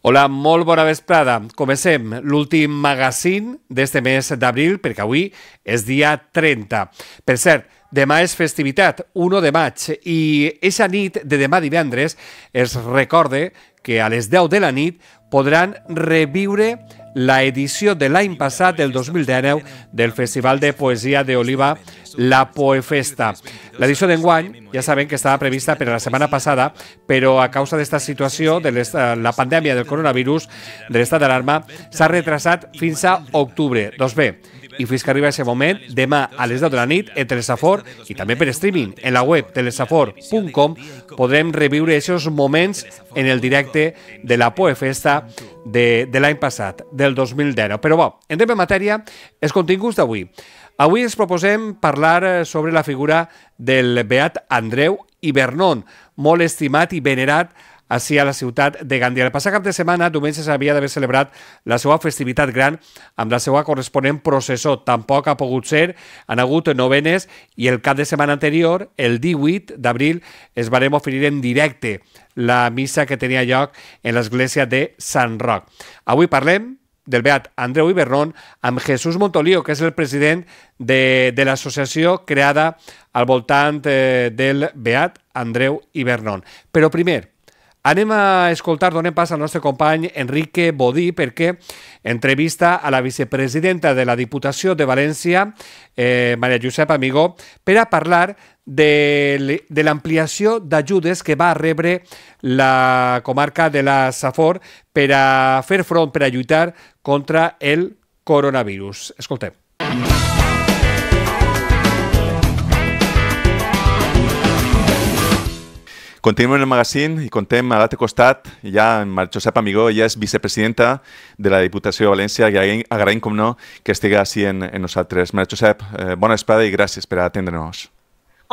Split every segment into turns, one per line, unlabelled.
Hola, molt bona vesprada. Comencem l'últim magazín d'este mes d'abril, perquè avui és dia 30. Per cert, demà és festivitat, 1 de maig, i eixa nit de demà divendres es recorde que a les 10 de la nit podran reviure la edició de l'any passat, del 2019, del Festival de Poesia d'Oliva, la Poefesta. L'edició d'enguany, ja saben que estava prevista per a la setmana passada, però a causa d'esta situació, de la pandèmia del coronavirus, de l'estat d'alarma, s'ha retrasat fins a octubre. Doncs bé, i fins que arriba aquest moment, demà a les 10 de la nit, entre el Safor i també per streaming, en la web de lesafor.com, podrem reviure aquests moments en el directe de la Poefesta de l'any passat, del 2019. Però bo, entrem en matèria, els continguts d'avui. Avui ens proposem parlar sobre la figura del beat Andreu Ibernon, molt estimat i venerat així a la ciutat de Gandia. El passat cap de setmana, diumenge, s'havia d'haver celebrat la seva festivitat gran amb la seva corresponent processó. Tampoc ha pogut ser, han hagut novenes i el cap de setmana anterior, el 18 d'abril, es varem oferir en directe la missa que tenia lloc en l'església de Sant Roc. Avui parlem del beat Andreu Ibernon amb Jesús Montolío, que és el president de l'associació creada al voltant del beat Andreu Ibernon. Però primer, anem a escoltar, donem pas al nostre company Enrique Bodí, perquè entrevista a la vicepresidenta de la Diputació de València, Maria Josep Amigó, per a parlar de l'ampliació d'ajudes que va rebre la comarca de la Safor per a fer front, per a lluitar contra el coronavirus. Escoltem.
Continuem el magazín i contem a l'altre costat ja amb Maria Josep Amigó. Ella és vicepresidenta de la Diputació de València i agraïm, com no, que estigui així en nosaltres. Maria Josep, bona vesprada i gràcies per atendre-nos.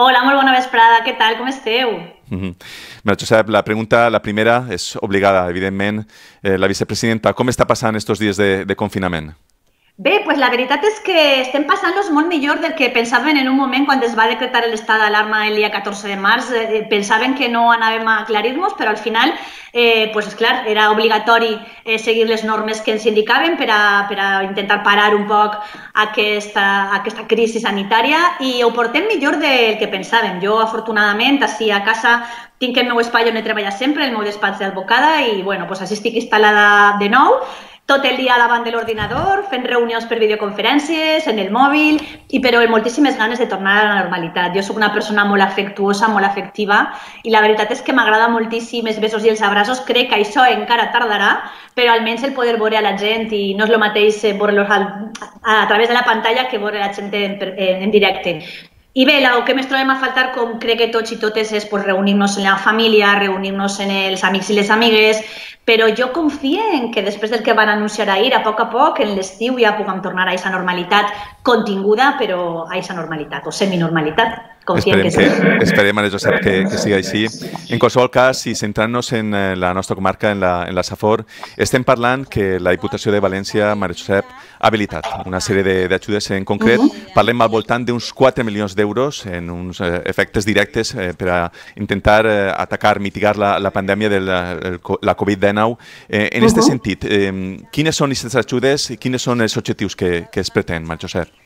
Hola, molt bona vesprada. Què tal? Com esteu?
Maria Josep, la primera és obligada, evidentment. La vicepresidenta, com està passant estos dies de confinament?
Bé, pues la veritat és que estem passant-los molt millor del que pensaven en un moment quan es va decretar l'estat d'alarma el dia 14 de març. Pensaven que no anàvem a aclarir-nos, però al final, pues clar, era obligatori seguir les normes que ens indicaven per a intentar parar un poc aquesta crisi sanitària, i ho portem millor del que pensàvem. Jo, afortunadament, així a casa tinc el meu espai on he treballat sempre, el meu despatx d'advocada, i bueno, pues així estic instal·lada de nou, tot el dia davant de l'ordinador, fent reunions per videoconferències, en el mòbil, però amb moltíssimes ganes de tornar a la normalitat. Jo soc una persona molt afectuosa, molt afectiva, i la veritat és que m'agrada moltíssim els besos i els abraços. Crec que això encara tardarà, però almenys el poder veure a la gent, i no és el mateix veure-los a través de la pantalla que veure la gent en directe. I bé, el que més trobem a faltar, com crec que tots i totes, és reunir-nos en la família, reunir-nos en els amics i les amigues, però jo confio en que després del que van anunciar ahir, a poc, en l'estiu ja puguem tornar a aquesta normalitat continguda, però a aquesta normalitat, o seminormalitat.
Esperem, Maria Josep, que sigui així. En qualsevol cas, i centrant-nos en la nostra comarca, en la Safor, estem parlant que la Diputació de València, Maria Josep, ha habilitat una sèrie d'ajudes. En concret, parlem al voltant d'uns 4 milions d'euros en uns efectes directes per a intentar atacar, mitigar la pandèmia de la Covid-19. En aquest sentit, quines són aquestes ajudes i quins són els objectius que es pretén, Maria Josep?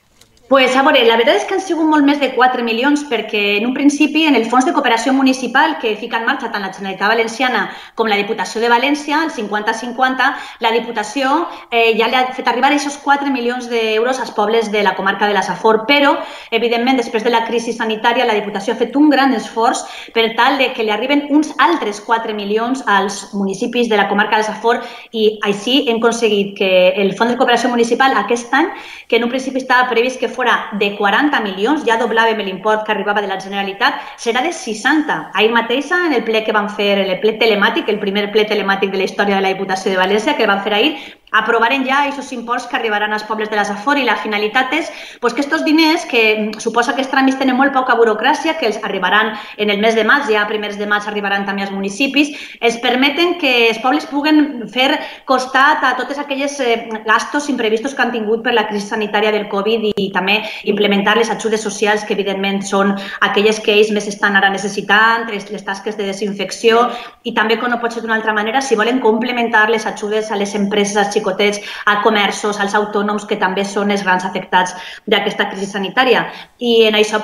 Pues, a veure, la veritat és que han sigut molt més de 4 milions, perquè en un principi en el Fons de Cooperació Municipal que fica en marxa tant la Generalitat Valenciana com la Diputació de València, el 50-50, la Diputació ja li ha fet arribar aquests 4 milions d'euros als pobles de la comarca de la Safor, però, evidentment, després de la crisi sanitària, la Diputació ha fet un gran esforç per tal que li arriben uns altres 4 milions als municipis de la comarca de la Safor, i així hem aconseguit que el Fons de Cooperació Municipal aquest any, que en un principi estava previst que fora de 40 milions, ja doblàvem l'import que arribava de la Generalitat, serà de 60. Ahir mateixa, en el ple que van fer, el ple telemàtic, el primer ple telemàtic de la història de la Diputació de València, que van fer ahir, aprovaren ja aquests imports que arribaran als pobles de la Safor, i la finalitat és que aquests diners, que suposa que els tràmits tenen molt poca burocràcia, que els arribaran en el mes de maig, ja a primers de maig arribaran també als municipis, els permeten que els pobles puguen fer costat a totes aquelles gastos imprevistos que han tingut per la crisi sanitària del Covid, i també implementar les ajudes socials, que evidentment són aquelles que ells més estan ara necessitant, les tasques de desinfecció, i també, com no pot ser d'una altra manera, si volen complementar les ajudes a les empreses, als xicotets, a comerços, als autònoms, que també són els grans afectats d'aquesta crisi sanitària. I en això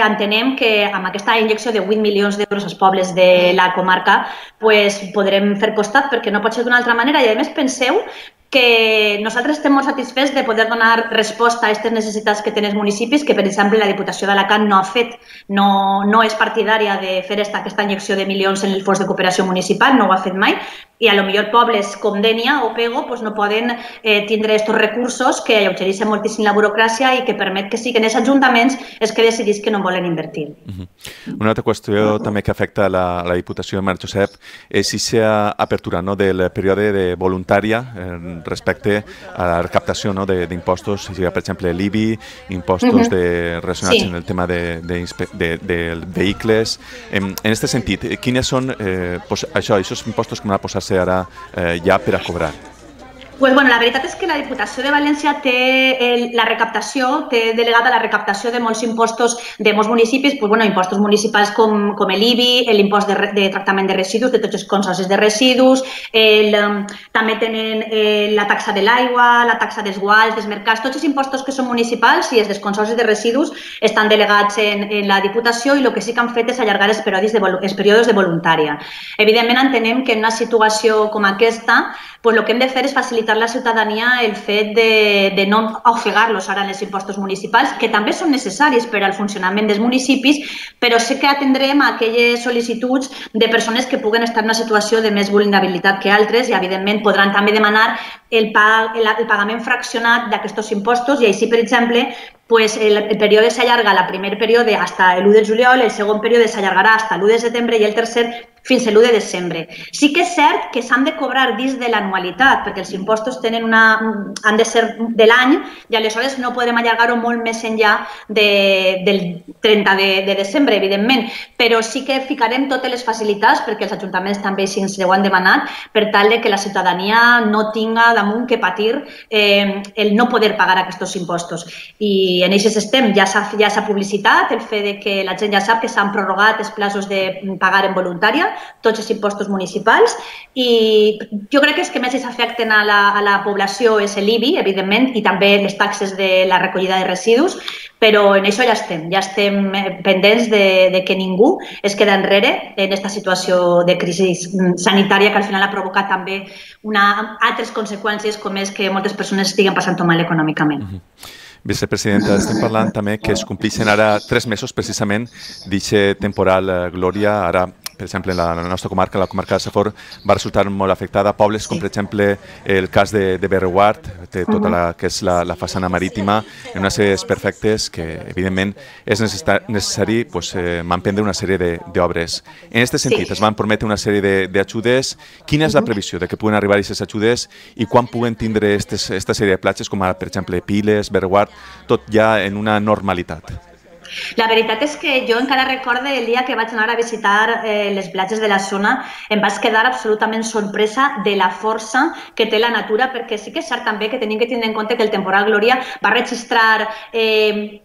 entenem que amb aquesta injecció de 8 milions d'euros als pobles de la comarca podrem fer costat, perquè no pot ser d'una altra manera. I a més penseu que nosaltres estem molt satisfets de poder donar resposta a aquestes necessitats que tenen els municipis, que per exemple la Diputació d'Alacant no ha fet, no és partidària de fer aquesta injecció de milions en el fons de cooperació municipal, no ho ha fet mai, i a lo millor pobles com Dénia o Pego no poden tindre aquests recursos que alleugereixen moltíssim la burocràcia i que permet que siguin els ajuntaments els que decidís que no volen invertir.
Una altra qüestió també que afecta la Diputació de Mare Josep és aquesta apertura del període de voluntària respecte a la recaptació d'impostos, per exemple l'IBI, impostos relacionats amb el tema de vehicles. En aquest sentit, quines són aquests impostos que van a posar-se ara ja per a cobrar?
La veritat és que la Diputació de València té la recaptació, té delegada la recaptació de molts impostos de molts municipis, impostos municipals com l'IBI, l'impost de tractament de residus, de tots els consorcis de residus, també tenen la taxa de l'aigua, la taxa dels guals, dels mercats, tots els impostos que són municipals i els dels consorcis de residus estan delegats en la Diputació, i el que sí que han fet és allargar els períodes de voluntària. Evidentment entenem que en una situació com aquesta el que hem de fer és facilitar a la ciutadania el fet de no ofegar-los ara en els impostos municipals, que també són necessaris per al funcionament dels municipis, però sí que atendrem a aquelles sol·licituds de persones que puguen estar en una situació de més vulnerabilitat que altres, i evidentment podran també demanar el pagament fraccionat d'aquests impostos, i així, per exemple, el període s'allarga, el primer període fins l'1 de juliol, el segon període s'allargarà fins l'1 de setembre i el tercer fins a l'1 de desembre. Sí que és cert que s'han de cobrar dins de l'anualitat, perquè els impostos han de ser de l'any, i aleshores no podrem allargar-ho molt més enllà del 30 de desembre, evidentment, però sí que ficarem totes les facilitats, perquè els ajuntaments també així ens ho han demanat, per tal que la ciutadania no tinga damunt que patir el no poder pagar aquests impostos. I en això estem, ja s'ha publicitat el fet que la gent ja sap que s'han prorrogat els plazos de pagar en voluntària tots els impostos municipals, i jo crec que els que més afecten a la població és l'IBI, evidentment, i també les taxes de la recollida de residus, però en això ja estem pendents de que ningú es queda enrere en aquesta situació de crisi sanitària que al final ha provocat també altres conseqüències, com és que moltes persones estiguen passant-ho mal econòmicament.
Vicepresidenta, estem parlant també que es complixen ara 3 mesos precisament d'aquest temporal Glòria. Ara, per exemple, la nostra comarca, la comarca de Safor, va resultar molt afectada. Pobles com, per exemple, el cas de Berreguard, té tota la que és la façana marítima, en una sèrie desperfectes que, evidentment, és necessari emprendre una sèrie d'obres. En aquest sentit, es van prometre una sèrie d'ajudes. Quina és la previsió de que puguen arribar aquestes ajudes i quan puguen tindre aquesta sèrie de platges, com per exemple Piles, Berreguard, tot ja en una normalitat?
La veritat és que jo encara recordo el dia que vaig anar a visitar les platges de la zona, em vaig quedar absolutament sorpresa de la força que té la natura, perquè sí que és cert també que tenim que tindre en compte que el temporal Glòria va registrar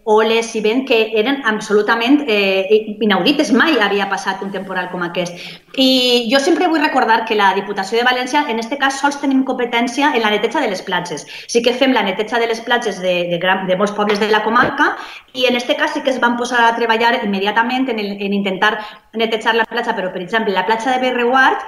oles i vent que eren absolutament inaudites. Mai havia passat un temporal com aquest. I jo sempre vull recordar que la Diputació de València, en aquest cas, sols tenim competència en la neteja de les platges. Sí que fem la neteja de les platges de molts pobles de la comarca, i en aquest cas sí que es van posar a treballar immediatament en intentar netejar la platja, però, per exemple, la platja de Berreguard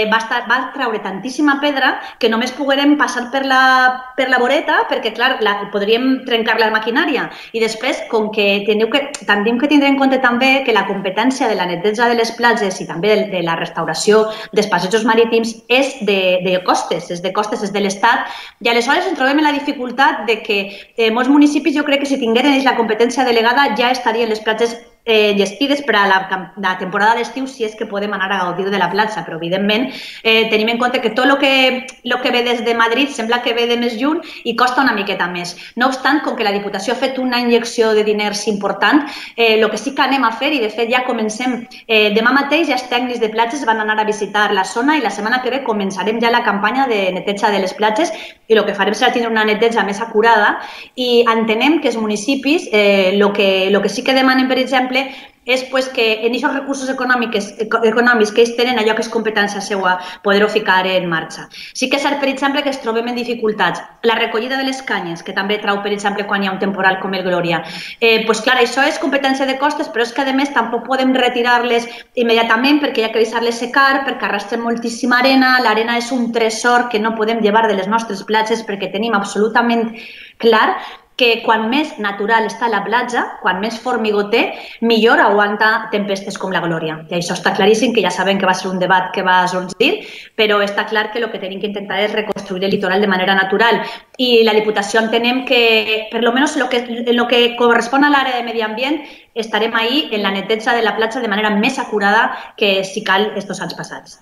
va treure tantíssima pedra que només poguérem passar per la voreta, perquè, clar, podríem trencar la maquinària. I després, com que tenim que tindre en compte també que la competència de la neteja de les platges i també de la restauració dels passejos marítims és de costes, és de l'Estat, i aleshores ens trobem en la dificultat de que molts municipis, jo crec que si tingueren la competència delegada ja estarien les platges llestides per a la temporada d'estiu si és que podem anar a gaudir de la platja, però evidentment tenim en compte que tot el que ve des de Madrid sembla que ve de més lluny i costa una miqueta més. No obstant, com que la Diputació ha fet una injecció de diners important, el que sí que anem a fer, i de fet ja comencem, demà mateix ja els tècnics de platges van anar a visitar la zona i la setmana que ve començarem ja la campanya de neteja de les platges i el que farem serà tindre una neteja més acurada i entenem que els municipis el que sí que demanen, per exemple, és que en aquests recursos econòmics que ells tenen, allò que és competència seva, poder-ho ficar en marxa. Sí que és cert, per exemple, que ens trobem en dificultats. La recollida de les canyes, que també trau, per exemple, quan hi ha un temporal com el Glòria. Clar, això és competència de costes, però és que, a més, tampoc podem retirar-les immediatament perquè hi ha que deixar-les secar, perquè arrastren moltíssima arena. L'arena és un tresor que no podem llevar de les nostres platges perquè tenim absolutament clar que quan més natural està la platja, quan més formigó té, millor aguanta tempestes com la Glòria. I això està claríssim, que ja sabem que va ser un debat que va sorgir, però està clar que el que tenim que intentar és reconstruir el litoral de manera natural. I la Diputació entenem que, per almenys en el que correspon a l'àrea de medi ambient, estarem ahí en la neteja de la platja de manera més acurada que si cal estos anys passats.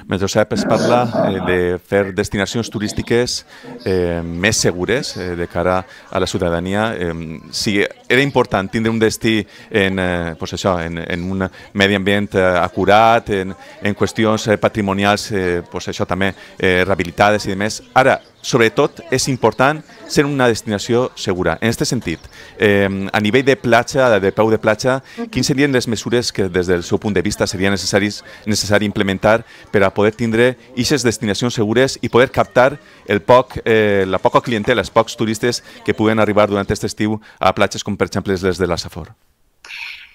Josep, es parla de fer destinacions turístiques més segures de cara a la ciutadania. Si era important tindre un destí en un medi ambient acurat, en qüestions patrimonials també rehabilitades i demés, ara, sobretot, és important ser una destinació segura. En aquest sentit, a nivell de platja, de peu de platja, quines serien les mesures que des del seu punt de vista seria necessari implementar per a poder tindre aquestes destinacions segures i poder captar la poca clientela, els pocs turistes que puguen arribar durant aquest estiu a platges com per exemple les de la Safor?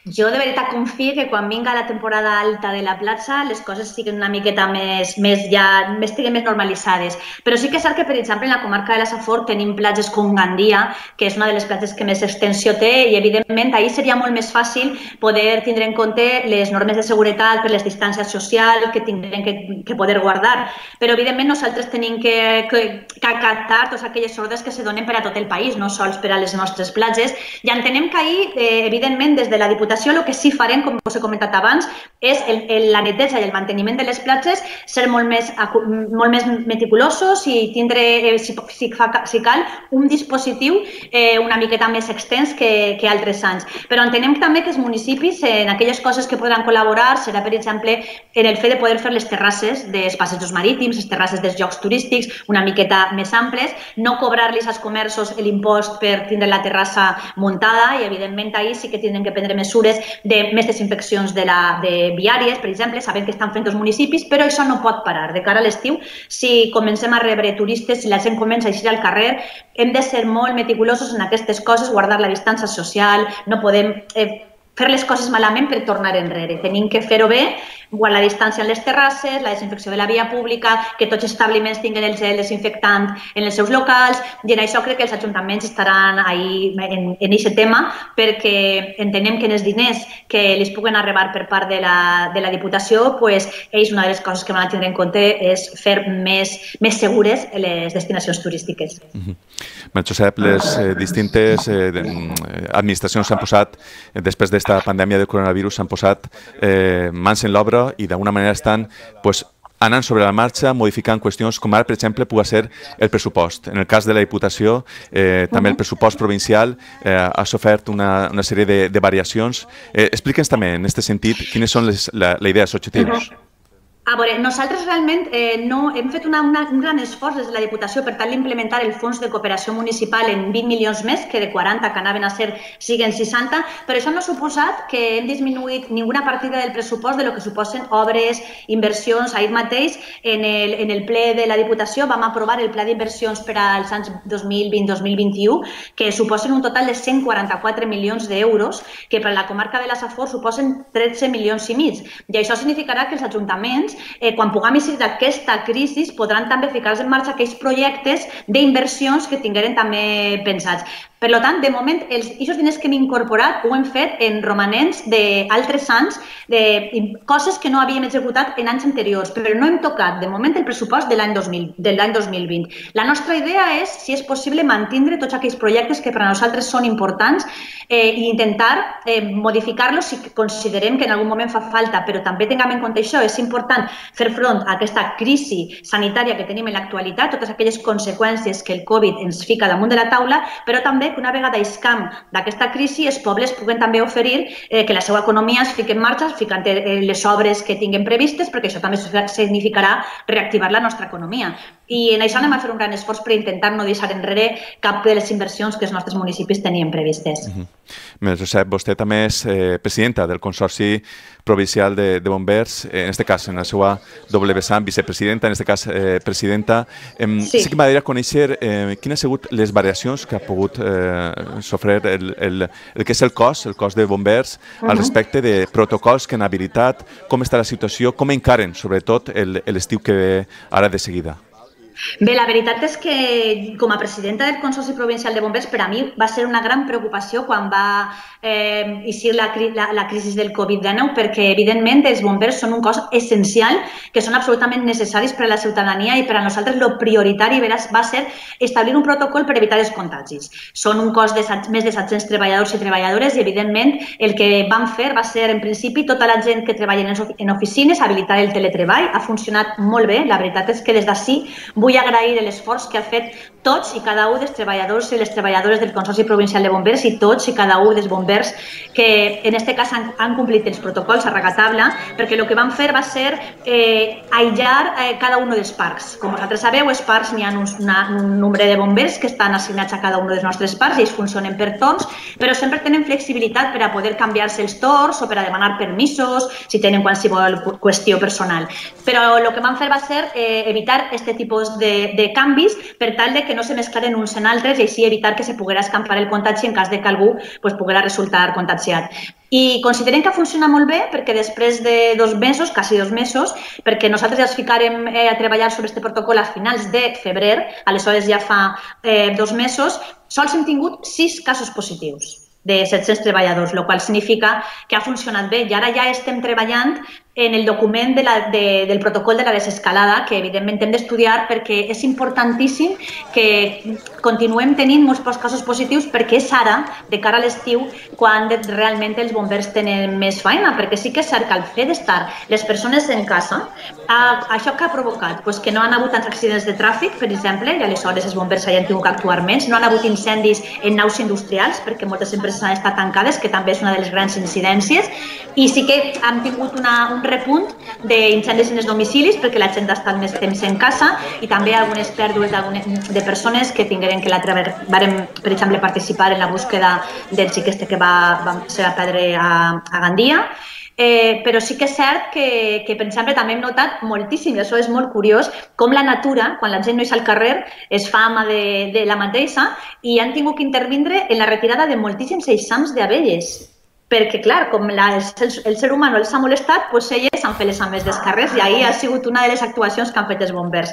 Jo de veritat confio que quan vinga la temporada alta de la platja les coses siguin una miqueta estiguen més normalitzades. Però sí que és cert que, per exemple, en la comarca de la Safor tenim platges com Gandia, que és una de les platges que més extensió té i, evidentment, ahir seria molt més fàcil poder tindre en compte les normes de seguretat per les distàncies socials que tindrem que poder guardar. Però, evidentment, nosaltres tenim que captar totes aquelles ordres que se donen per a tot el país, no sols per a les nostres platges. I entenem que ahir, evidentment, des de la Diputació, el que sí farem, com us he comentat abans, és la neteja i el manteniment de les platges, ser molt més meticulosos i tindre, si cal, un dispositiu una miqueta més extens que altres anys. Però entenem també que els municipis, en aquelles coses que podran col·laborar, serà, per exemple, en el fet de poder fer les terrasses dels passejos marítims, les terrasses dels llocs turístics, una miqueta més amples, no cobrar-los als comerços l'impost per tindre la terrassa muntada i, evidentment, ahir sí que tindrem que prendre mesures de més desinfeccions de viàries, per exemple, sabem que estan fent els municipis, però això no pot parar. De cara a l'estiu, si comencem a rebre turistes, si la gent comença a eixir al carrer, hem de ser molt meticulosos en aquestes coses, guardar la distància social, no podem fer les coses malament per tornar enrere. Tenim que fer-ho bé, guardar la distància en les terrasses, la desinfecció de la via pública, que tots els establiments tinguin el gel desinfectant en els seus locals, i en això crec que els ajuntaments estaran ahí en aquest tema, perquè entenem que en els diners que els puguen arribar per part de la Diputació, ells una de les coses que van a tindre en compte és fer més segures les destinacions turístiques.
Josep, les distintes administracions s'han posat, després d'esta pandèmia del coronavirus, s'han posat mans en l'obra i d'alguna manera estan anant sobre la marxa, modificant qüestions com ara, per exemple, pugui ser el pressupost. En el cas de la Diputació, també el pressupost provincial ha sofert una sèrie de variacions. Explica'ns també, en aquest sentit, quines són la idea, els objectius.
A veure, nosaltres realment hem fet un gran esforç des de la Diputació per tal d'implementar el fons de cooperació municipal en 20 milions més, que de 40 que anaven a ser siguen 60, però això no ha suposat que hem disminuït ninguna partida del pressupost de lo que suposen obres, inversions. Ahir mateix, en el ple de la Diputació, vam aprovar el pla d'inversions per als anys 2020-2021, que suposen un total de 144 milions d'euros, que per a la comarca de la Safor suposen 13 milions i mig. I això significarà que els ajuntaments quan puguem eixir d'aquesta crisi, podran també ficar-se en marxa aquells projectes d'inversions que tingueren també pensats. Per tant, de moment, aquests diners que hem incorporat ho hem fet en romanents d'altres anys, de coses que no havíem executat en anys anteriors, però no hem tocat, de moment, el pressupost de l'any 2020. La nostra idea és, si és possible, mantindre tots aquells projectes que per a nosaltres són importants i intentar modificar-los si considerem que en algun moment fa falta, però també tinguem en compte això, és important fer front a aquesta crisi sanitària que tenim en l'actualitat, totes aquelles conseqüències que el Covid ens fica damunt de la taula, però també que una vegada iscam d'aquesta crisi, els pobles puguen també oferir que la seva economia es fiqui en marxa, ficant les obres que tinguem previstes, perquè això també significarà reactivar la nostra economia. I en això anem a fer un gran esforç per intentar no deixar enrere cap de les inversions que els nostres municipis tenien previstes.
Maria Josep, vostè també és presidenta del Consorci Provincial de Bombers, en aquest cas, en la seva doble vessant, vicepresidenta, en aquest cas, presidenta. Sí que m'agradaria conèixer quines han sigut les variacions que ha pogut sofrir el que és el cos de bombers al respecte de protocols que han habilitat, com està la situació, com encaren, sobretot, l'estiu que ve ara de seguida.
Bé, la veritat és que com a presidenta del Consorci Provincial de Bombers per a mi va ser una gran preocupació quan va eixir la crisi del Covid-19 perquè evidentment els bombers són un cos essencial que són absolutament necessaris per a la ciutadania i per a nosaltres el prioritari va ser establir un protocol per evitar els contagis. Són un cos de més de 700 treballadors i treballadores i evidentment el que vam fer va ser en principi tota la gent que treballa en oficines, habilitar el teletreball, ha funcionat molt bé, la veritat és que des d'ací vull agrair l'esforç que ha fet tots i cada un dels treballadors i les treballadores del Consorci Provincial de Bombers i tots i cada un dels bombers que en aquest cas han complit els protocols a rajatabla, perquè el que vam fer va ser aïllar cada un dels parcs. Com vosaltres sabeu, els parcs n'hi ha un nombre de bombers que estan assignats a cada un dels nostres parcs i ells funcionen per torns, però sempre tenen flexibilitat per a poder canviar-se els torns o per a demanar permisos si tenen qualsevol qüestió personal. Però el que vam fer va ser evitar aquest tipus de canvis per tal de que no se mesclaren uns en altres i així evitar que se poguera escampar el contagi en cas de que algú poguera resultar contagiat. I considerem que ha funcionat molt bé perquè després de 2 mesos, quasi 2 mesos, perquè nosaltres ja ens ficarem a treballar sobre aquest protocol a finals de febrer, aleshores ja fa 2 mesos, sols hem tingut 6 casos positius de 700 treballadors, el qual significa que ha funcionat bé i ara ja estem treballant en el document del protocol de la desescalada, que evidentment hem d'estudiar perquè és importantíssim que continuem tenint molts pocs casos positius perquè és ara, de cara a l'estiu, quan realment els bombers tenen més feina, perquè sí que és cert que al fet d'estar les persones en casa, això que ha provocat? Que no han hagut tants accidents de tràfic, per exemple, i aleshores els bombers hagin tingut que actuar menys, no han hagut incendis en naus industrials, perquè moltes empreses han estat tancades, que també és una de les grans incidències, i sí que han tingut un repunt d'incendis en els domicilis perquè la gent ha estat més temps en casa i també algunes pèrdues de persones que tingueren que varen, per exemple, participar en la búsqueda del xic que se va perdre a Gandia. Però sí que és cert que, per exemple, també hem notat moltíssim, i això és molt curiós, com la natura, quan la gent no és al carrer, es fa ama de la mateixa i han tingut que intervindre en la retirada de moltíssims eixams d'abelles. Perquè, clar, com el ser humà no els ha molestat, elles han fet les ames dels carrers i ahir ha sigut una de les actuacions que han fet els bombers.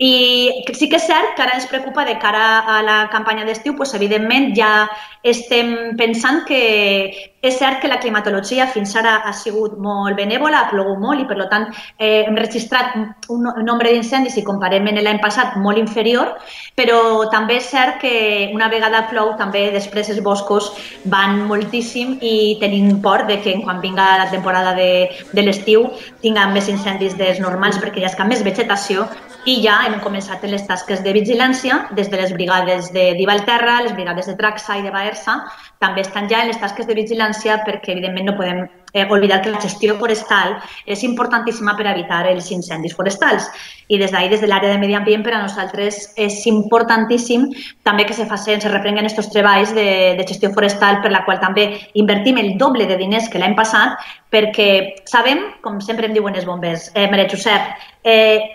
I sí que és cert que ara ens preocupa de cara a la campanya d'estiu, evidentment ja estem pensant que és cert que la climatologia fins ara ha sigut molt benèvola, ha plogut molt i per tant hem registrat un nombre d'incendis si comparem amb l'any passat molt inferior, però també és cert que una vegada plou també després els boscos van moltíssim i tenim por de que quan vinga la temporada de l'estiu tinguem més incendis dels normals perquè hi ha més vegetació i ja hem començat les tasques de vigilància des de les brigades de Divalterra, les brigades de Traxa i de Baersa, també estan ja en les tasques de vigilància perquè evidentment no podem oblidar que la gestió forestal és importantíssima per evitar els incendis forestals i des d'ahir, des de l'àrea de medi ambient, per a nosaltres és importantíssim també que se reprenguen aquests treballs de gestió forestal per la qual també invertim el doble de diners que l'any passat perquè sabem, com sempre em diuen els bombers, Maria Josep,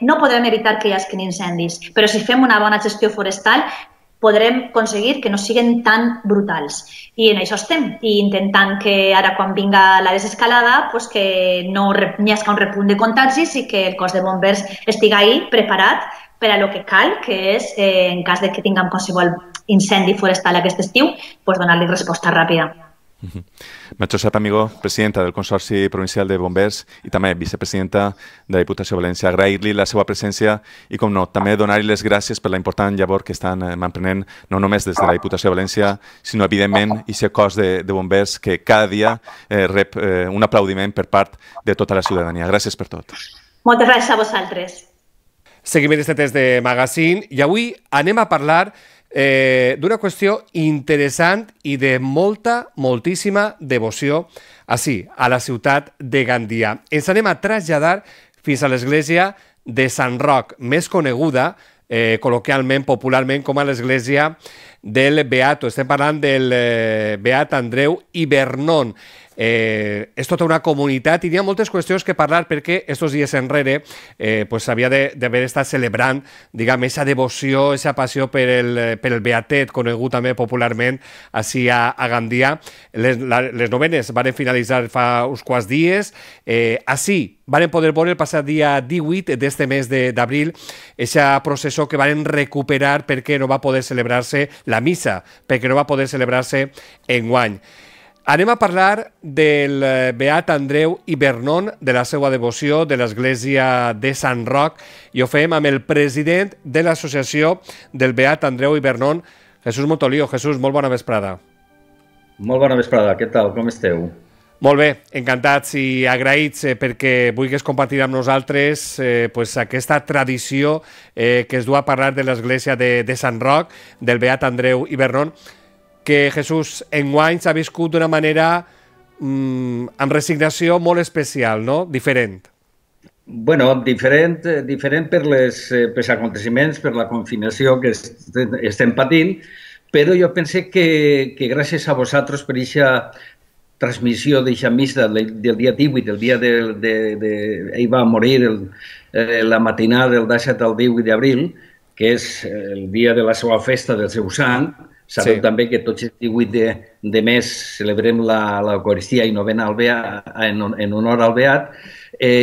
no podem evitar que hi hagi incendis, però si fem una bona gestió forestal podrem aconseguir que no siguin tan brutals. I en això estem, i intentant que ara quan vinga la desescalada pues que no hi hagi un repunt de contagis i que el cos de bombers estigui ahí preparat per a lo que cal, que és, en cas de que tinguem qualsevol incendi forestal aquest estiu, pues donar-li resposta ràpida.
Maria Josep Amigó, presidenta del Consorci Provincial de Bombers i també vicepresidenta de la Diputació de València. Agrair-li la seva presència i, com no, també donar-li les gràcies per la important llavor que estan emprenent, no només des de la Diputació de València, sinó, evidentment, aquest cos de bombers que cada dia rep un aplaudiment per part de tota la ciutadania. Gràcies per tot.
Moltes gràcies a vosaltres.
Seguim aquest test de Magazine i avui anem a parlar d'una qüestió interessant i de moltíssima devoció així, a la ciutat de Gandia. Ens anem a traslladar fins a l'església de Sant Roc, més coneguda col·loquialment, popularment, com a l'església del Beato. Estem parlant del Beat Andreu i Vernon. És tota una comunitat i hi ha moltes qüestions que parlar perquè estos dies enrere s'havia d'haver estat celebrant, diguem, aquesta devoció, aquesta passió per el Beatet, conegut també popularment així a Gandia. Les novenes van finalitzar fa uns quants dies. Així van poder veure el passat dia 18 d'este mes d'abril aquesta processó que van recuperar perquè no va poder celebrar-se la missa, perquè no va poder celebrar-se enguany. Anem a parlar del Beat Andreu i Vernon, de la seva devoció, de l'església de Sant Roc, i ho fem amb el president de l'associació del Beat Andreu i Vernon, Jesús Montolío. Jesús, molt bona vesprada.
Molt bona vesprada, què tal, com esteu?
Molt bé, encantats i agraïts perquè vulguis compartir amb nosaltres aquesta tradició que es du a parlar de l'església de Sant Roc, del Beat Andreu i Vernon, que Jesús enguany s'ha viscut d'una manera amb resignació molt especial, no? Diferent.
Bueno, diferent per els aconteciments, per la confinació que estem patint, però jo penso que gràcies a vosaltres per aquesta transmissió d'aquesta missa del dia 18, el dia ell va morir la matinada del 17 al 18 d'abril, que és el dia de la seva festa del seu sant. Sabeu també que tots els 18 de mes celebrem l'Eucaristia i novena en honor al Beat.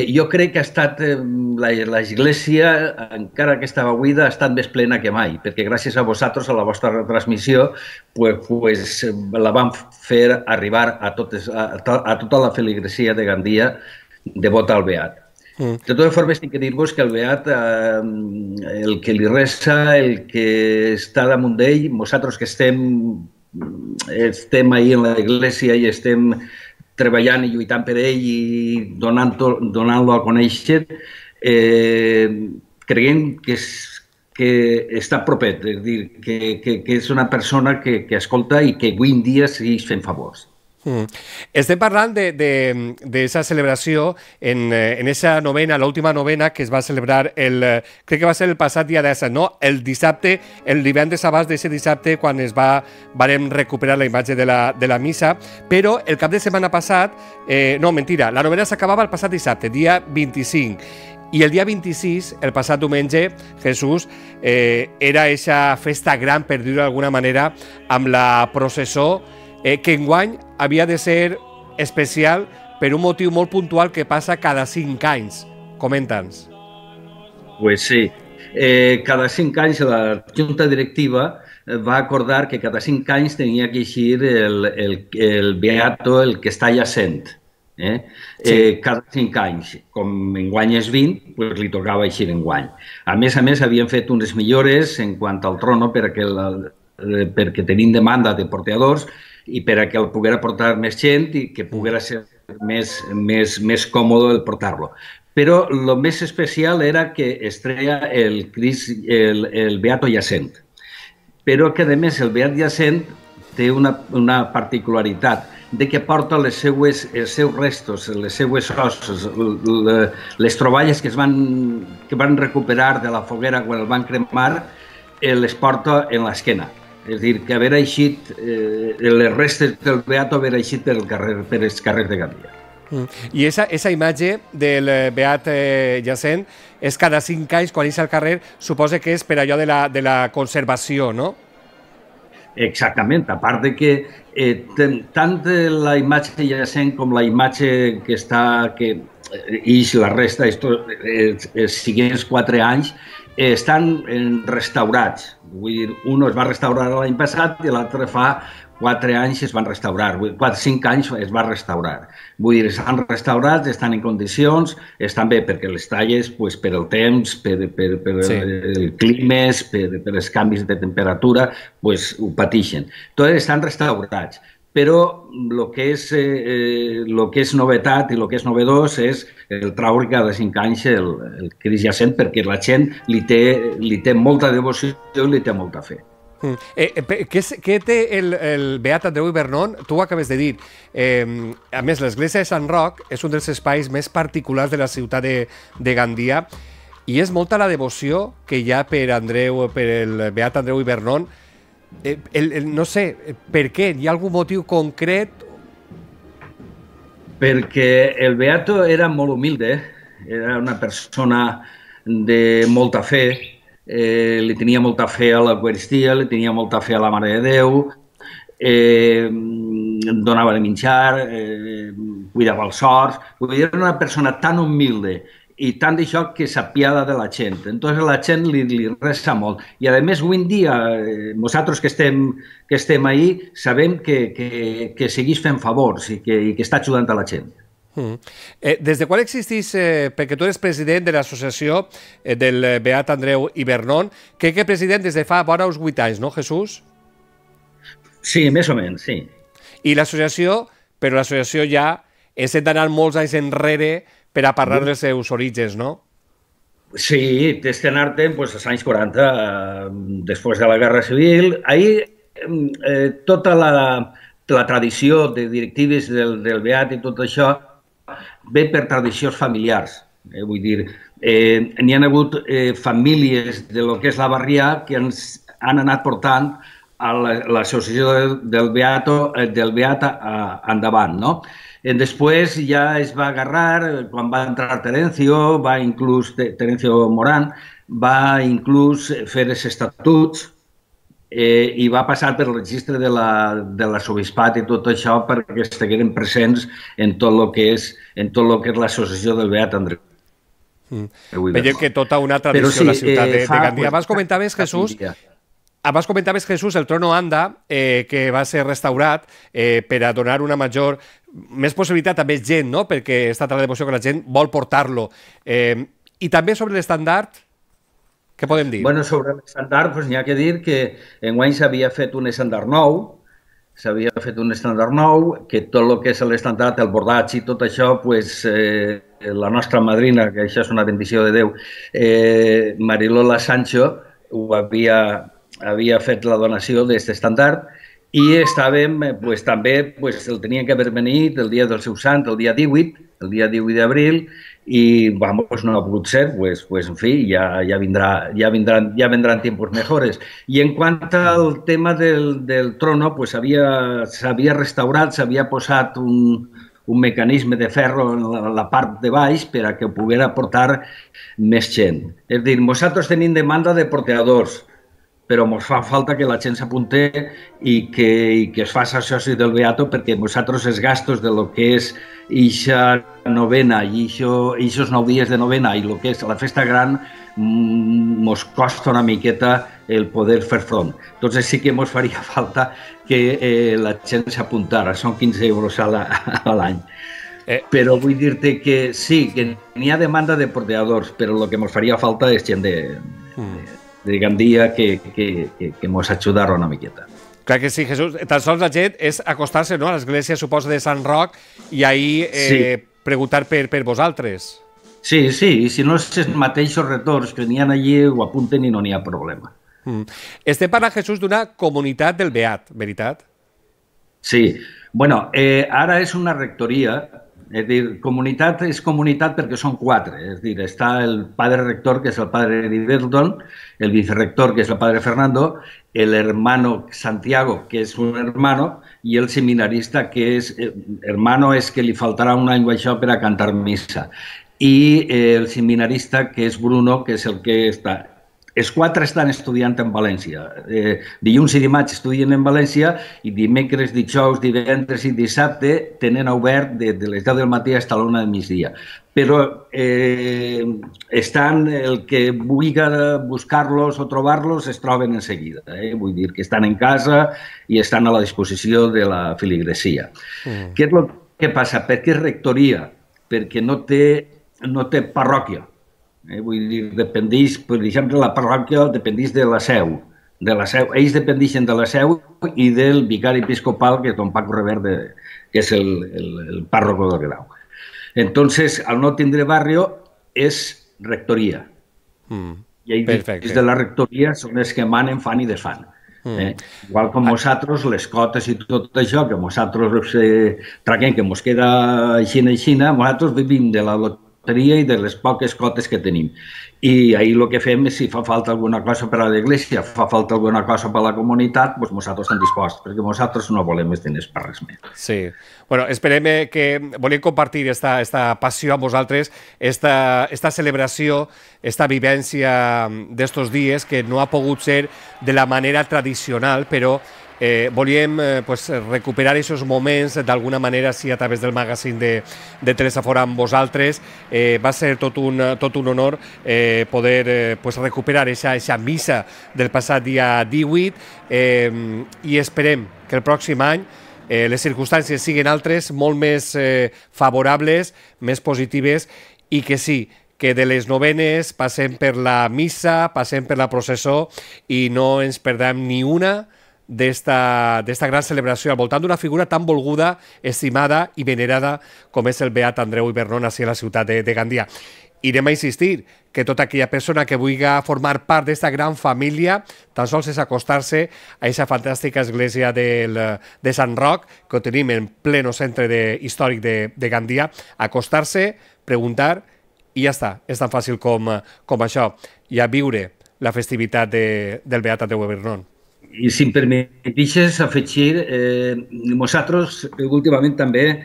Jo crec que ha estat l'Església, encara que estava buida, ha estat més plena que mai, perquè gràcies a vosaltres, a la vostra retransmissió, la vam fer arribar a tota la feligresia de Gandia devota al Beat. De totes formes, tinc que dir-vos que el Beat, el que li resa, el que està damunt d'ell, nosaltres que estem ahí en l'església i estem treballant i lluitant per ell i donant-lo a conèixer, creiem que està propet, és a dir, que és una persona que escolta i que avui en dia segueix fent favors.
Estem parlant d'aquesta celebració en aquesta novena, l'última novena que es va celebrar crec que va ser el passat dia 17, no? El dissabte, el divendres abans d'aquest dissabte, quan vam recuperar la imatge de la missa, però el cap de setmana passat, no, mentira, la novena s'acabava el passat dissabte, dia 25, i el dia 26, el passat diumenge, Jesús, era aquesta festa gran, per dir-ho d'alguna manera, amb la processó, que enguany havia de ser especial per un motiu molt puntual que passa cada 5 anys. Comenta'ns.
Pues sí. Cada 5 anys la Junta Directiva va acordar que cada 5 anys tenia que eixir el Beato, el que està jacent. Cada 5 anys. Com enguany és 20, pues li tocava eixir enguany. A més, havien fet unes millores en quant al trono perquè tenim demanda de porteadors i per a que el poguera portar més gent i que poguera ser més còmode el portar-lo. Però el més especial era que es treia el Beato jacent. Però que, a més, el Beat jacent té una particularitat de que porta els seus restos, les seues osses, les troballes que van recuperar de la foguera quan el van cremar, les porta en l'esquena. És a dir, que haver eixit, les restes del Beato haver eixit per els carrers de Gandia.
I aquesta imatge del Beat jacent és cada 5 anys, quan és al carrer, suposa que és per allò de la conservació, no?
Exactament, a part de que tant la imatge jacent com la imatge que està, i la resta, siguients 4 anys, estan restaurats. Vull dir, un es va restaurar l'any passat i l'altre fa 4 anys es van restaurar, 4-5 anys es va restaurar. Vull dir, estan restaurats, estan en condicions, estan bé perquè les talles, pues, per el temps, per el clima, per els canvis de temperatura, pues, ho pateixen. Tots estan restaurats, però el que és novetat i el que és novedós és el traure cada 5 anys el Crist jacent, perquè la gent li té molta devoció i li té molta fe.
Què té el Beat Andreu i Vernon? Tu ho acabes de dir. A més, l'església de Sant Roc és un dels espais més particulars de la ciutat de Gandia i és molta la devoció que hi ha per el Beat Andreu i Vernon. No sé, per què? Hi ha algun motiu concret?
Perquè el Beato era molt humilde, era una persona de molta fe, li tenia molta fe a l'Eucaristia, li tenia molta fe a la Mare de Déu, donava de menjar, cuidava els horts. Era una persona tan humilde i tant d'això que s'apiada de la gent. Entonces la gent li resa molt. I a més, avui en dia, nosaltres que estem ahí, sabem que segueix fent favors i que està ajudant a la gent.
Des de quan existís, perquè tu eres president de l'associació del Beat Andreu i Vernon, crec que president des de fa vora uns 8 anys, no, Jesús?
Sí, més o menys, sí.
I l'associació, però l'associació ja és d'anar molts anys enrere per a parlar dels seus orígens, no?
Sí, tens que anar-te'n als anys 40, després de la Guerra Civil. Ahir tota la tradició de directives del Beat i tot això ve per tradicions familiars. Vull dir, n'hi ha hagut famílies de lo que és la Barrià que ens han anat portant a l'associació del Beat endavant, no? Després ja es va agarrar, quan va entrar Terencio Morán, va inclús fer els estatuts i va passar per el registre de l'arxebisbat i tot això perquè estigueren presents en tot el que és l'associació del Beat Andreu.
Veiem que tota una tradició a la ciutat de Gandia. Abans comentaves, Jesús, el Trono Anda, que va ser restaurat per a donar una més possibilitat a més gent, no? Perquè està tan la devoció que la gent vol portar-lo. I també sobre l'estandard, què podem dir?
Bueno, sobre l'estandard, n'hi ha que dir que enguany s'havia fet un estandard nou, que tot el que és l'estandard, el bordatge i tot això, la nostra madrina, que això és una bendició de Déu, Marilola Sancho, havia fet la donació d'aquest estandard i estàvem, també el tenien que haver venit el dia del seu sant, el dia 18 d'abril, i no ha pogut ser, en fi, ja vendran tiempos mejores. I en quant al tema del trono, s'havia restaurat, s'havia posat un mecanisme de ferro en la part de baix per a que poguera portar més gent. És a dir, nosaltres tenim demanda de porteadors, però ens fa falta que la gent s'apunte i que es faci soci del Beato, perquè nosaltres els gastos de lo que és eixa novena i eixos 9 dies de novena i el que és la festa gran ens costa una miqueta el poder fer front. Entonces sí que ens faria falta que la gent s'apuntara, són 15 euros a l'any. Però vull dir-te que sí, que n'hi ha demanda de porteadors, però el que ens faria falta és gent de Gandia que ens ajudara una miqueta.
Clar que sí, Jesús. Tan sols la gent és acostar-se a l'església, suposo, de Sant Roc i ahir preguntar per vosaltres.
Sí, i si no és els mateixos retorns que n'hi ha allí, ho apunten i no n'hi ha problema.
Estem parlant, Jesús, d'una comunitat del Beat, veritat?
Sí. Bueno, ara és una rectoria. És dir, comunitat és comunitat perquè són 4. És dir, està el padre rector, que és el padre Heriberton, el vicerrector, que és el padre Fernando, el hermano Santiago, que és un hermano, i el seminarista, que és... Hermano és que li faltarà un any o això per a cantar missa. I el seminarista, que és Bruno, que és el que està els 4 estan estudiant en València. Dilluns i dimarts estudien en València i dimecres, dijous, divendres i dissabte tenen obert de les 10 del matí fins a la 1 del migdia. Però estan, el que vulgui buscar-los o trobar-los es troben en seguida. Vull dir que estan en casa i estan a la disposició de la filigresia. Què és el que passa? Per què rectoria? Perquè no té parròquia. Vull dir, dependeix, per exemple, la parròquia dependeix de la seu. Ells dependeixen de la seu i del vicari episcopal, que és don Paco Reverte, que és el párroco del Grau. Entonces, al no tindre barrio, és rectoria. I ells des de la rectoria són els que manen, fan i desfan. Igual com nosaltres, les cotes i tot això, que nosaltres traguem, que ens queda aixina, nosaltres vivim de la loteria i de les poques cotes que tenim. I ahir el que fem és, si fa falta alguna cosa per a l'església, fa falta alguna cosa per a la comunitat, doncs nosaltres estem disposats, perquè nosaltres no volem més diners per res més.
Sí. Bueno, esperem que volem compartir esta passió amb vosaltres, esta celebració, esta vivència d'estos dies, que no ha pogut ser de la manera tradicional, però volíem recuperar aquests moments d'alguna manera, sí, a través del magazín de Telesafor amb vosaltres. Va ser tot un honor poder recuperar aquesta missa del passat dia 18 i esperem que el pròxim any les circumstàncies siguin altres, molt més favorables, més positives, i que sí, que de les novenes passem per la missa, passem per la processó i no ens perdem ni una d'esta gran celebració al voltant d'una figura tan volguda, estimada i venerada com és el beat Andreu Ibernón a la ciutat de Gandia. Irem a insistir que tota aquella persona que vulgui formar part d'esta gran família tan sols és acostar-se a aquesta fantàstica església de Sant Roc, que ho tenim en pleno centre històric de Gandia, acostar-se, preguntar i ja està. És tan fàcil com això, i a viure la festivitat del beat Andreu Ibernón.
I si em permetixes afegir, nosaltres últimament també,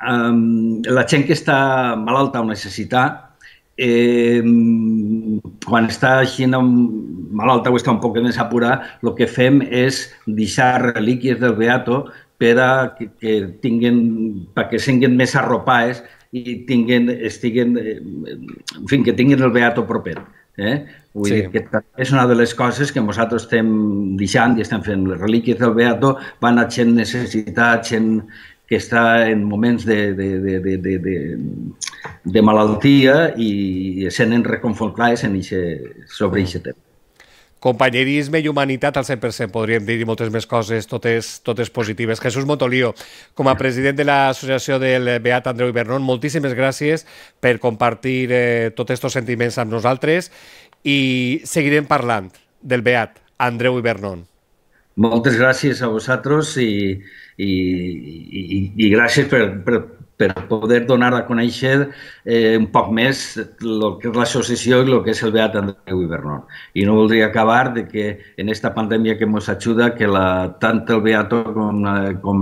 la gent que està malalta o necessita, quan està així malalta o està un poc més apurada, el que fem és deixar relíquies del beato perquè siguin més arropades i que tinguin el beato proper. Vull dir que és una de les coses que nosaltres estem deixant i estem fent. Les relíquies del beato van a gent necessitat, gent que està en moments de malaltia i sent reconfortats sobre aquest tema.
Companyerisme i humanitat al 100%, podríem dir, i moltes més coses, totes positives. Jesús Montolío, com a president de l'associació del beat Andreu Ibernón, moltíssimes gràcies per compartir tots aquests sentiments amb nosaltres i seguirem parlant del beat Andreu Ibernón.
Moltes gràcies a vosaltres i gràcies per poder donar a conèixer un poc més el que és l'associació i el que és el beat Andreu Ibernón. I no voldria acabar de que en aquesta pandèmia que ens ajuda, que tant el beato com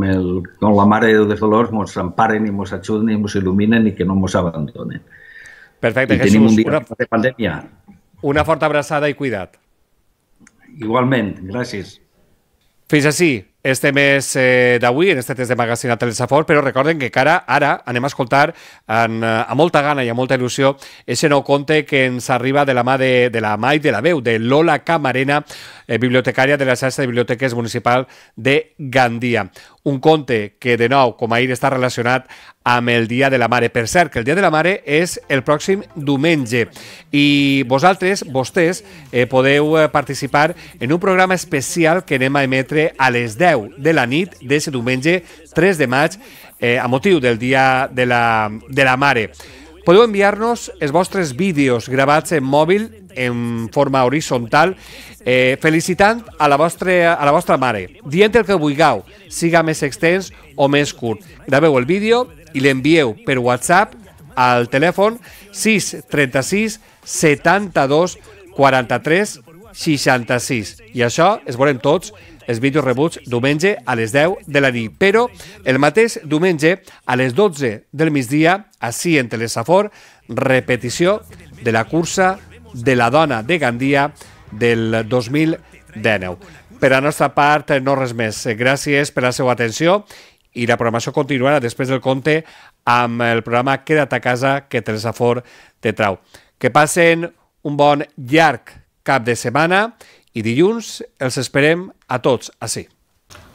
la Mare de Déu dels Dolors ens emparen i ens ajuden i ens il·luminen i que no ens abandonen.
Perfecte, Jesús.
Tenim un dia de pandèmia.
Una forta abraçada i cuida't.
Igualment, gràcies.
Fins així, este mes d'avui, en este test de magazine a Telesafor, però recorden que ara anem a escoltar amb molta gana i amb molta il·lusió aquest nou conte que ens arriba de la mà de la mà i de la veu de Lola Camarena, bibliotecària de la xarxa de biblioteques municipal de Gandia. Un conte que, de nou, com ahir, està relacionat amb el Dia de la Mare. Per cert, que el Dia de la Mare és el pròxim diumenge i vostès podeu participar en un programa especial que anem a emetre a les 10 de la nit d'aquest diumenge 3 de maig a motiu del Dia de la Mare. Podeu enviar-nos els vostres vídeos gravats en mòbil en forma horitzontal felicitant a la vostra mare, dient el que vulgueu, siga més extens o més curt. Graveu el vídeo i l'envieu per WhatsApp al telèfon 636 72 43 66. I això es veurem tots els vídeos rebuts diumenge a les 10 de la nit. Però el mateix diumenge a les 12 del migdia, així en Telesafor, repetició de la cursa de la dona de Gandia del 2019. Per a nostra part, no res més. Gràcies per la seva atenció i la programació continuarà després del conte amb el programa Queda't a casa, que Telesafor te trau. Que passen un bon llarg cap de setmana i dilluns els esperem a tots ací.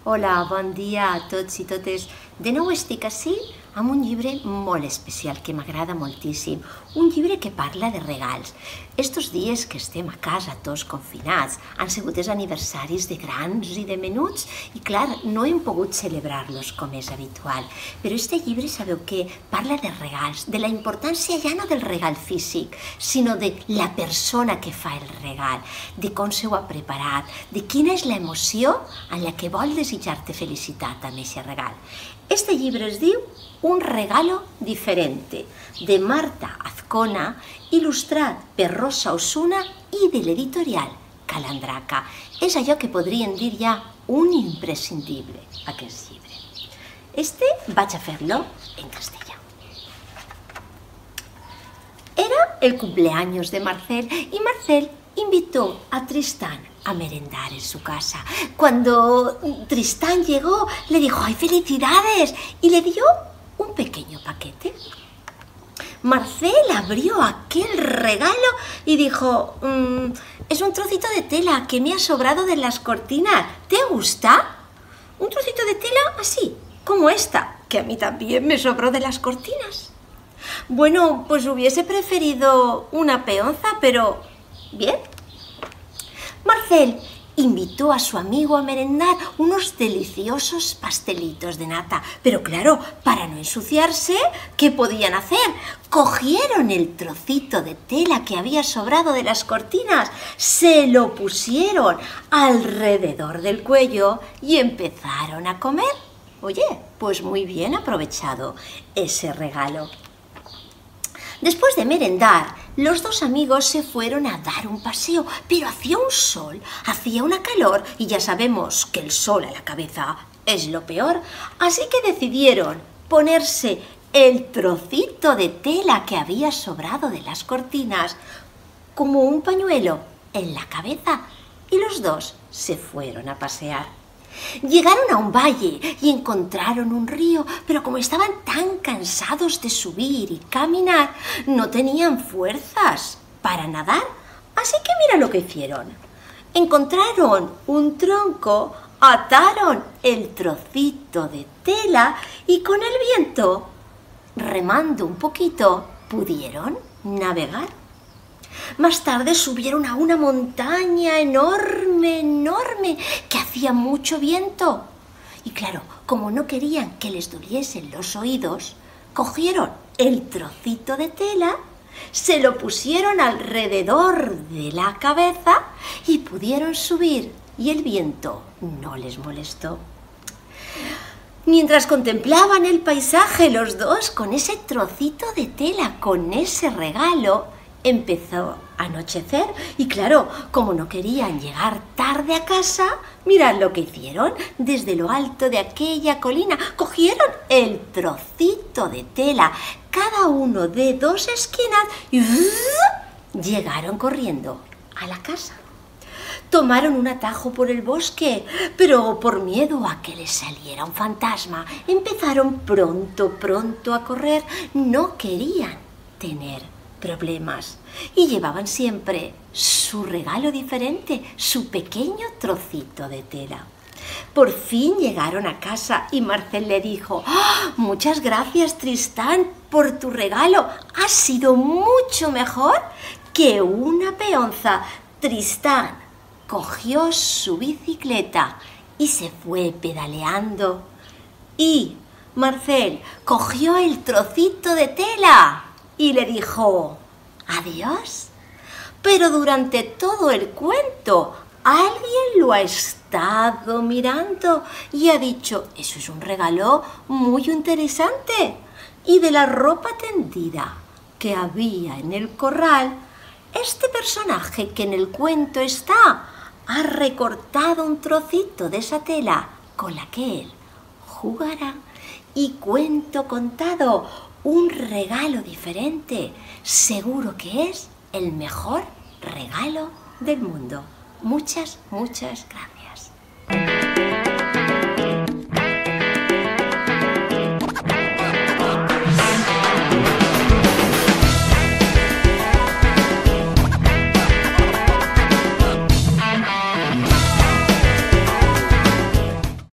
Hola, bon dia a tots i totes. De nou estic ací amb un llibre molt especial que m'agrada moltíssim. Un llibre que parla de regals. Estos dies que estem a casa tots confinats han sigut els aniversaris de grans i de menuts i clar, no hem pogut celebrar-los com és habitual. Però este llibre sabeu que parla de regals, de la importància ja no del regal físic, sinó de la persona que fa el regal, de com s'ho ha preparat, de quina és l'emoció en la que vol desitjar-te felicitat amb aquest regal. Este llibre es diu Un regalo diferente, de Marta Azcona, il·lustrat per Rosa Osuna i de l'editorial Calandraca. És allò que podríem dir ja un imprescindible, aquest llibre. Este vaig a fer-lo en castellà. Era el cumpleaños de Marcel y Marcel invitó a Tristán a merendar en su casa. Cuando Tristán llegó, le dijo ¡ay, felicidades! Y le dio un pequeño paquete. Marcel abrió aquel regalo y dijo es un trocito de tela que me ha sobrado de las cortinas. ¿Te gusta? Un trocito de tela así, como esta, que a mí también me sobró de las cortinas. Bueno, pues hubiese preferido una peonza, pero bien. Marcel invitó a su amigo a merendar unos deliciosos pastelitos de nata. Pero claro, para no ensuciarse, ¿qué podían hacer? Cogieron el trocito de tela que había sobrado de las cortinas, se lo pusieron alrededor del cuello y empezaron a comer. Oye, pues muy bien aprovechado ese regalo. Después de merendar, los dos amigos se fueron a dar un paseo, pero hacía un sol, hacía una calor y ya sabemos que el sol a la cabeza es lo peor, así que decidieron ponerse el trocito de tela que había sobrado de las cortinas como un pañuelo en la cabeza y los dos se fueron a pasear. Llegaron a un valle y encontraron un río, pero como estaban tan cansados de subir y caminar, no tenían fuerzas para nadar. Así que mira lo que hicieron. Encontraron un tronco, ataron el trocito de tela y con el viento, remando un poquito, pudieron navegar. Más tarde subieron a una montaña enorme, enorme, que hacía mucho viento. Y claro, como no querían que les doliesen los oídos, cogieron el trocito de tela, se lo pusieron alrededor de la cabeza y pudieron subir, y el viento no les molestó. Mientras contemplaban el paisaje los dos con ese trocito de tela, con ese regalo, empezó a anochecer y claro, como no querían llegar tarde a casa, mirad lo que hicieron. Desde lo alto de aquella colina cogieron el trocito de tela, cada uno de dos esquinas y llegaron corriendo a la casa. Tomaron un atajo por el bosque, pero por miedo a que les saliera un fantasma, empezaron pronto a correr. No querían tener problemas y llevaban siempre su regalo diferente, su pequeño trocito de tela. Por fin llegaron a casa y Marcel le dijo ¡oh, muchas gracias, Tristán, por tu regalo! Ha sido mucho mejor que una peonza. Tristán cogió su bicicleta y se fue pedaleando y Marcel cogió el trocito de tela y le dijo adiós. Pero durante todo el cuento alguien lo ha estado mirando y ha dicho eso es un regalo muy interesante. Y de la ropa tendida que había en el corral, este personaje que en el cuento está ha recortado un trocito de esa tela con la que él jugará. Y cuento contado, un regalo diferente, seguro que es el mejor regalo del mundo. Muchas, muchas gracias.